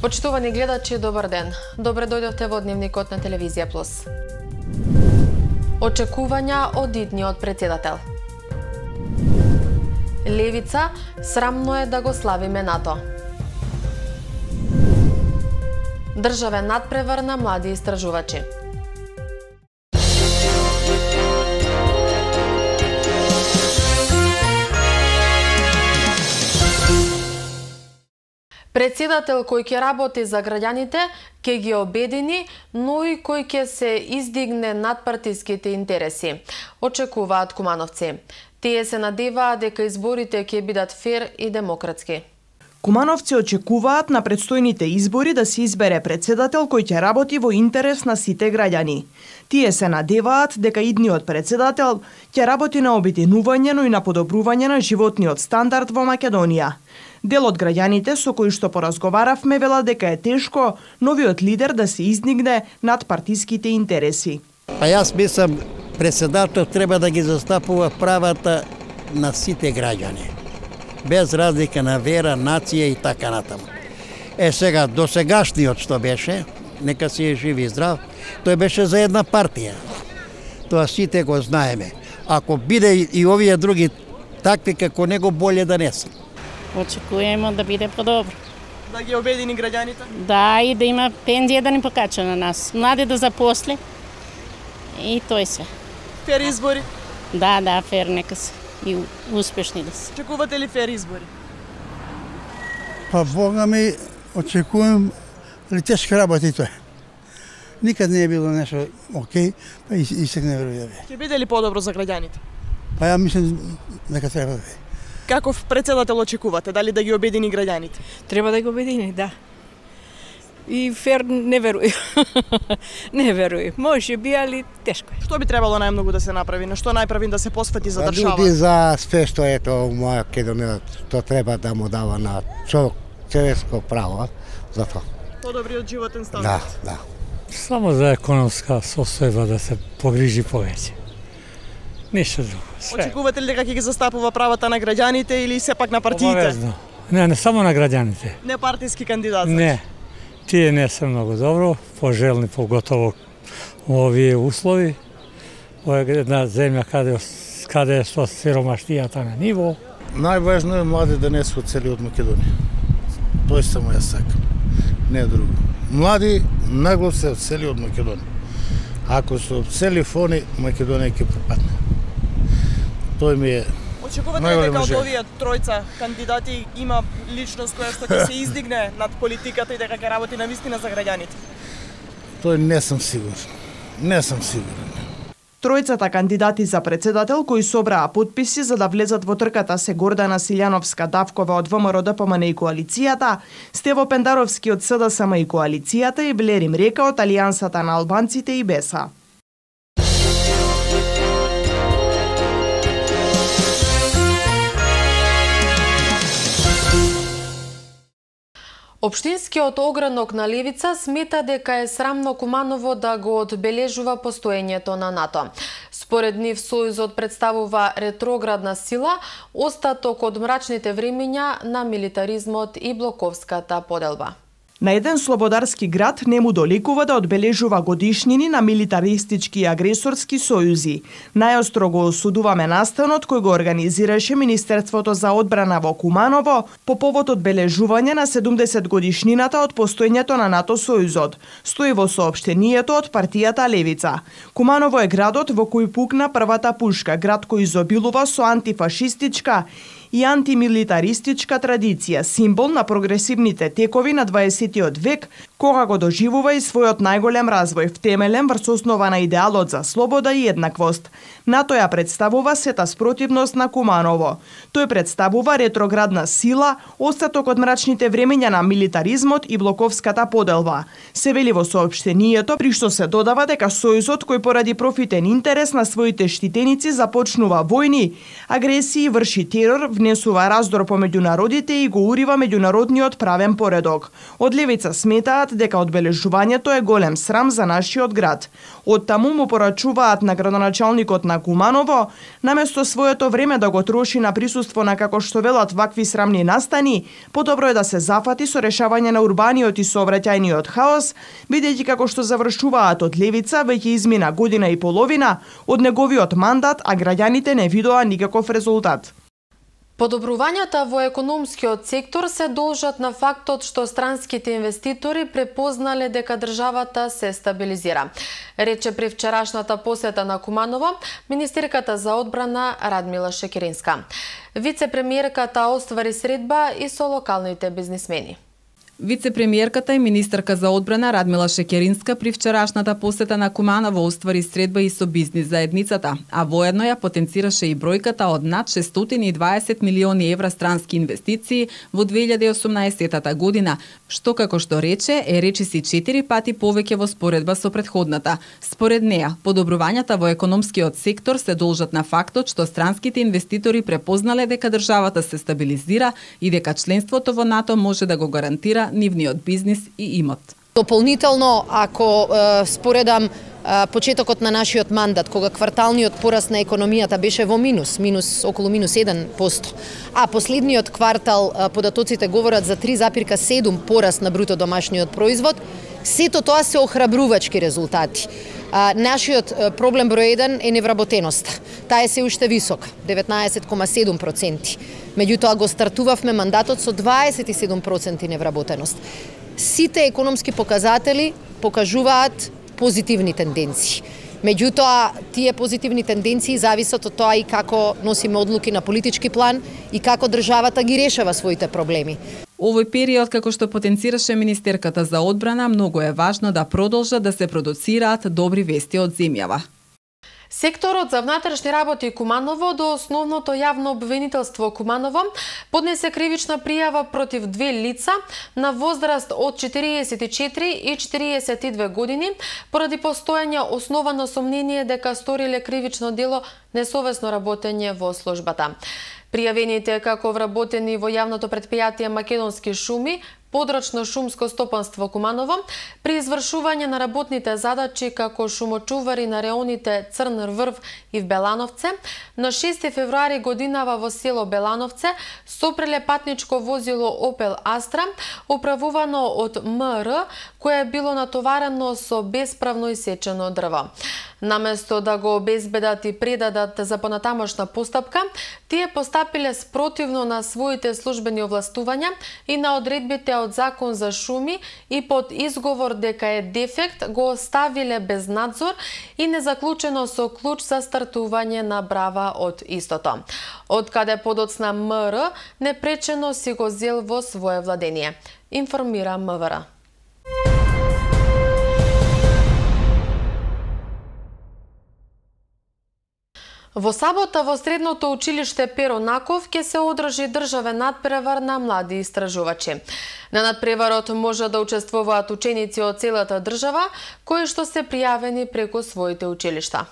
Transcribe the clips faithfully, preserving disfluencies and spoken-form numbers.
Почитувани гледачи, добар ден. Добре дојдовте во Дневникот на Телевизија Плюс. Очекувања од идниот претседател. Левица, срамно е да го славиме НАТО. Државен надпревар на млади истражувачи. Претседател кој ќе работи за граѓаните, ќе ги обедини, но и кој ќе се издигне над партиските интереси, очекуваат кумановци. Тие се надеваат дека изборите ќе бидат фер и демократски. Кумановци очекуваат на предстојните избори да се избере претседател кој ќе работи во интерес на сите граѓани. Тие се надеваат дека идниот претседател ќе работи на обединување, но и на подобрување на животниот стандард во Македонија. Дел од граѓаните со кои што поразговаравме вела дека е тешко новиот лидер да се издигне над партиските интереси. А јас мислам, претседател треба да ги застапува правата на сите граѓани, без разлика на вера, нација и така натаму. Е сега, досегашниот што беше, нека си е жив и здрав, тој беше за една партија. Тоа сите го знаеме. Ако биде и овие други такви како него, боле да не се. Очекуваме да биде подобро. Да ги обедини граѓаните? Да, и да има пензија да ни покача на нас. Млади да запосли. И тој се. Фер избори? Да, да, фер нека се. И успешни да се. Очекувате ли фер избори? Па Бога ми, очекувам ли тешко работи тој. Никад не е било нешто окей, па и, и сега не верувам. Ќе биде ли подобро за граѓаните? Па ја мислам дека треба да биде. Каков претседател очекувате? Дали да ги обедини граѓаните? Треба да ги обедини, да. И фер не веруј. Не веруј. Може би, али тешко е. Што би требало најмногу да се направи? На што најпрвин да се посвети за држава? Луѓе за све што ето у Македонија, тоа треба да му дава на човек, човечко право за тоа. Подобриот животен стандард. Да, да. Само за економска состојба да се погрижи повеќе. Ништо друго. Све. Очекувате ли дека ќе ги застапува правата на граѓаните или сепак на партиите? Обавезно. Не, не само на граѓаните. Не партиски кандидат. Не. Тие не се многу добро, пожелни поготово во овие услови. Ова е една земја каде каде е со сиромаштијата на ниво. Најважно е млади да не се оцели од Македонија. Тој само ја сакам. Не друго. Млади нагло се оцели од Македонија. Ако се оцели фони, Македонија ќе пропадне. Тој ми е. Очекувате ли дека од овие тројца кандидати има личност која што ќе се издигне над политиката и дека ќе работи навистина за граѓаните? Тој не сум сигурен. Не сум сигурен. Тројцата кандидати за претседател кои собраа потписи за да влезат во трката се Гордана Силјановска-Давкова од ВМРО-ДПМН и коалицијата, Стево Пендаровски од СДСМ и коалицијата и Блерим Река од Алијансата на албанците и Беса. Општинскиот огранок на Левица смета дека е срамно Куманово да го одбележува постоењето на НАТО. Според нив Сојузот представува ретроградна сила, остаток од мрачните времиња на милитаризмот и блоковската поделба. На еден слободарски град не му долекува да одбележува годишнини на милитаристички и агресорски сојузи. Најостро го осудуваме настанот кој го организираше Министерството за одбрана во Куманово по повод одбележување на седумдесет годишнината од постоењето на НАТО сојузот, стои во соопштението од партијата Левица. Куманово е градот во кој пукна првата пушка, град кој изобилува со антифашистичка и антимилитаристичка традиција, символ на прогресивните текови на дваесеттиот век, кога го доживува и својот најголем развој, втемелен врз основа на идеалот за слобода и еднаквост. НАТО ја представува сета спротивност на Куманово. Тој представува ретроградна сила, остаток од мрачните времења на милитаризмот и блоковската поделба. Се вели во соопштението, при што се додава дека Сојузот кој поради профитен интерес на своите штитеници започнува војни, агресии, врши терор, внесува раздор помеѓу народите и го урива меѓународниот правен поредок. Од Левица сметаат изјавуваат дека одбележувањето е голем срам за нашиот град. Од таму му порачуваат на градоначалникот на Куманово, наместо своето време да го троши на присуство на, како што велат, вакви срамни настани, подобро е да се зафати со решавање на урбаниот и сообраќајниот хаос, бидејќи како што завршуваат од левица, веќе измина година и половина од неговиот мандат, а граѓаните не видоа никаков резултат. Подобрувањата во економскиот сектор се должат на фактот што странските инвеститори препознале дека државата се стабилизира, рече при вчерашната посета на Куманово министерката за одбрана Радмила Шекеринска. Вице-премиерката оствари средба и со локалните бизнисмени. Вице-премиерката и министерка за одбрана Радмила Шекеринска при вчерашната посета на Куманово оствари средба и со бизнис заедницата, а воедно ја потенцираше и бројката од над шестстотини и дваесет милиони евра странски инвестиции во две илјади и осумнаесета година, што како што рече е речиси четири пати повеќе во споредба со претходната. Според неа, подобрувањата во економскиот сектор се должат на фактот што странските инвеститори препознале дека државата се стабилизира и дека членството во НАТО може да го гарантира нивниот бизнис и имот. Дополнително, ако е, споредам е, почетокот на нашиот мандат, кога кварталниот пораст на економијата беше во минус, минус околу минус еден проценти, а последниот квартал е, податоците говорат за три запирка седум пораст на бруто домашниот производ, сето тоа се охрабрувачки резултати. А, нашиот проблем број еден е невработеноста. Таа е се уште висока, деветнаесет кома седум проценти. Меѓутоа го стартувавме мандатот со дваесет и седум проценти невработеност. Сите економски показатели покажуваат позитивни тенденции. Меѓутоа, тие позитивни тенденции зависат од тоа и како носиме одлуки на политички план и како државата ги решава своите проблеми. Овој период, како што потенцираше министерката за одбрана, многу е важно да продолжат да се продуцираат добри вести од земјава. Секторот за внатрешни работи Куманово до основното јавно обвинителство Куманово поднесе кривична пријава против две лица на возраст од четириесет и четири и четириесет и две години поради постоење основано сомнение дека сториле кривично дело несовесно работење во службата. Пријавените како вработени во јавното претпријатие Македонски шуми, подрачно шумско стопанство Куманово, при извршување на работните задачи како шумочувари на реоните Црн Врв и в Белановце, на шести февруари годинава во село Белановце сопреле патничко возило Опел Астра, управувано од М Р, кое било натоварено со бесправно исечено дрво. Наместо да го обезбедат и предадат за понатамошна постапка, тие постапиле спротивно на своите службени овластувања и на одредбите од Закон за шуми и под изговор дека е дефект го оставиле без надзор и незаклучено со клуч за стартување на брава од истото. Од каде подоцна М Р непречено си го зел во свое владение, информира М В Р. Во сабота во средното училиште Перо Наков ќе се одржи државен надпревар на млади истражувачи. На надпреварот може да учествуваат ученици од целата држава, кои што се пријавени преку своите училишта.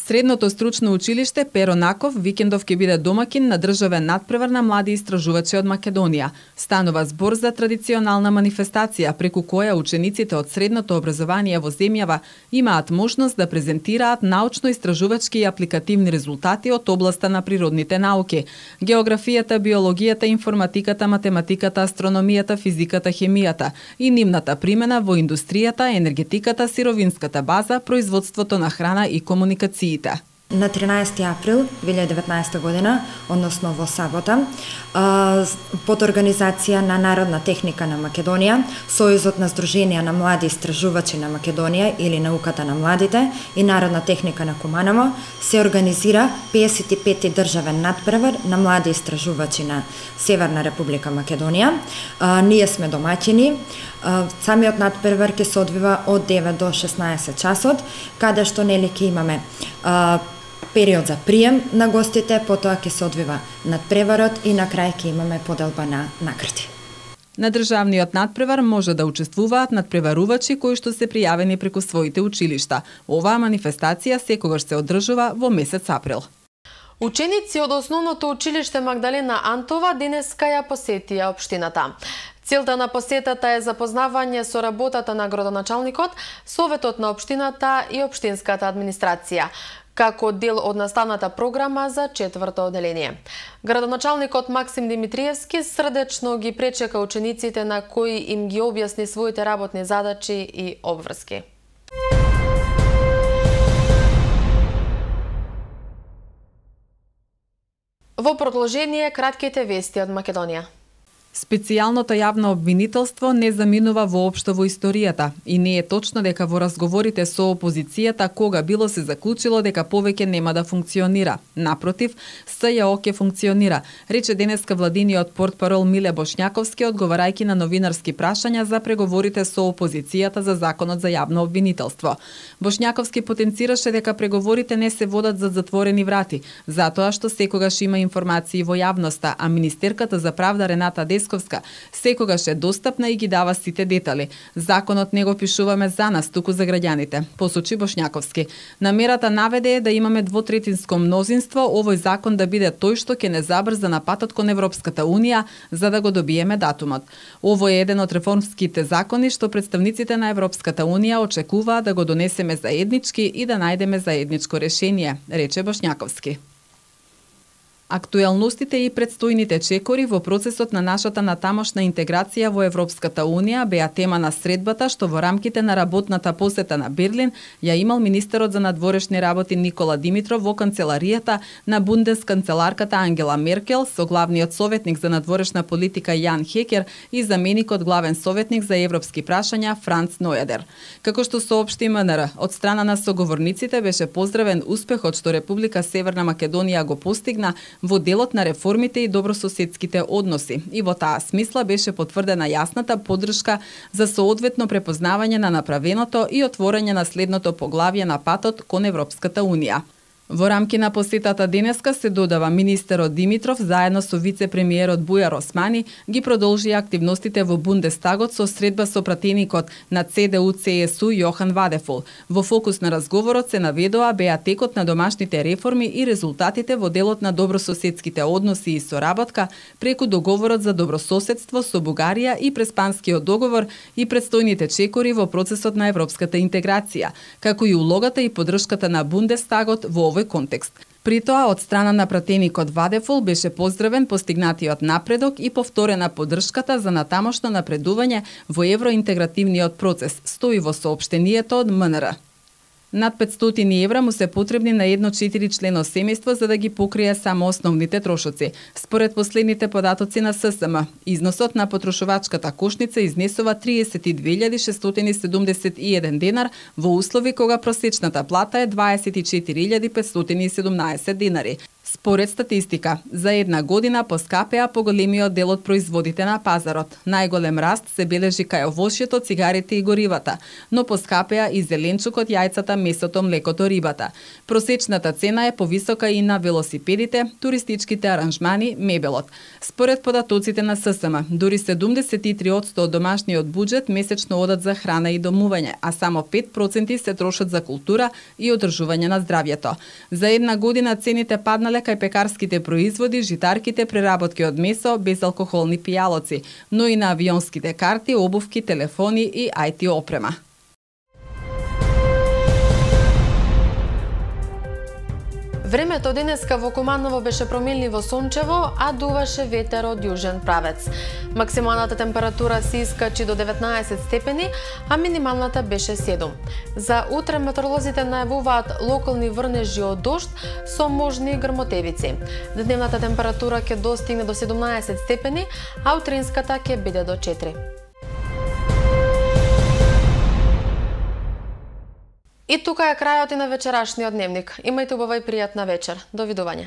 Средното стручно училиште Перо Наков викендов ќе биде домакин на државен надпревар на млади истражувачи од Македонија. Станува збор за традиционална манифестација преку која учениците од средното образование во земјава имаат можност да презентираат научно-истражувачки и апликативни резултати од областа на природните науки, географијата, биологијата, информатиката, математиката, астрономијата, физиката, хемијата и нивната примена во индустријата, енергетиката, сировинската база, производството на храна и комуникациите. На тринаесети април две илјади и деветнаесета година, односно во сабота, под организација на Народна техника на Македонија, Сојузот на Сдруженија на млади истражувачи на Македонија или науката на младите и Народна техника на Куманово, се организира педесет и пети државен надпревар на млади истражувачи на Северна Република Македонија. Ние сме домаќини. Самиот надпревар ќе се одвива од девет до шеснаесет часот, каде што нели ќе имаме период за прием на гостите, потоа ќе се одвива надпреварот и на крај ќе имаме поделба на награди. На државниот надпревар може да учествуваат надпреварувачи кои што се пријавени преку своите училишта. Оваа манифестација секогаш се одржува во месец април. Ученици од основното училиште Магдалена Антова денеска ја посетија општината. Целта на посетата е запознавање со работата на градоначалникот, Советот на општината и општинската администрација, како дел од наставната програма за четврто одделение. Градоначалникот Максим Димитриевски срдечно ги пречека учениците на кои им ги објасни своите работни задачи и обврски. Во продолжение кратките вести од Македонија. Специјалното јавно обвинителство не заминува воопшто во историјата и не е точно дека во разговорите со опозицијата кога било се заклучило дека повеќе нема да функционира. Напротив, С Ј О ќе функционира, рече денеска владиниот портпарол Миле Бошњаковски одговарајќи на новинарски прашања за преговорите со опозицијата за законот за јавно обвинителство. Бошњаковски потенцираше дека преговорите не се водат за затворени врати, затоа што секогаш има информации во јавноста, а министерката за правда Рената Десковска секогаш е достапна и ги дава сите детали. Законот не го пишуваме за нас, туку за граѓаните, посочи Бошњаковски. Намерата наведе е да имаме двотретинско мнозинство, овој закон да биде тој што ќе не забрза на патот кон Европската Унија за да го добиеме датумот. Овој е еден од реформските закони што представниците на Европската Унија очекуваат да го донесеме заеднички и да најдеме заедничко решение, рече Бошњаковски. Актуелностите и предстојните чекори во процесот на нашата натамошна интеграција во Европската Унија беа тема на средбата што во рамките на работната посета на Берлин ја имал министерот за надворешни работи Никола Димитров во канцеларијата на бундесканцеларката Ангела Меркел со главниот советник за надворешна политика Јан Хекер и заменикот главен советник за европски прашања Франц Нојадер. Како што соопшти М Н Р, од страна на соговорниците беше поздравен успехот што Република Северна Македонија го постигна во делот на реформите и добрососедските односи и во таа смисла беше потврдена јасната поддршка за соодветно препознавање на направеното и отворање на следното поглавје на патот кон Европската Унија. Во рамки на посетата денеска се додава министерот Димитров заедно со вице-премиерот Бујар Османи ги продолжи активностите во Бундестагот со средба со пратеникот на Це Де У Це Ес У Јохан Вадефол. Во фокус на разговорот се наведоа беа текот на домашните реформи и резултатите во делот на добрососедските односи и соработка преку договорот за добрососедство со Бугарија и Преспанскиот договор и предстојните чекори во процесот на европската интеграција, како и улогата и поддршката на Бундестагот во овој контекст. При тоа, од страна на пратеникот Вадефол беше поздравен постигнатиот напредок и повторена поддршката за натамошно напредување во евроинтегративниот процес, стои во соопштението од М Н Р. Над петстотини евра му се потребни на едно четиричлено семејство за да ги покрие само основните трошоци. Според последните податоци на С С М, износот на потрошувачката кошница изнесува триесет и две илјади шестстотини седумдесет и еден денар во услови кога просечната плата е дваесет и четири илјади петстотини и седумнаесет денари. Според статистика, за една година поскапеа поголемиот дел од производите на пазарот. Најголем раст се бележи кај овошјето, цигарите и горивата, но поскапеа и зеленчукот, јајцата, месото, млекото, рибата. Просечната цена е повисока и на велосипедите, туристичките аранжмани, мебелот. Според податоците на С С М, дури седумдесет и три одсто од домашниот буџет месечно одат за храна и домување, а само пет проценти се трошат за култура и одржување на здравјето. За една година цените паднале кај пекарските производи, житарките, преработки од месо, безалкохолни пијалоци, но и на авионските карти, обувки, телефони и ај ти опрема. Времето денеска во Куманово беше променливо сончево, а дуваше ветер од јужен правец. Максималната температура се искачи до деветнаесет степени, а минималната беше седум. За утре метеоролозите најавуваат локални врнежи од дожд со можни грмотевици. Дневната температура ќе достигне до седумнаесет степени, а утринската ќе биде до четири. И тука е крајот и на вечерашниот дневник. Имајте убава и пријатна вечер. До видување.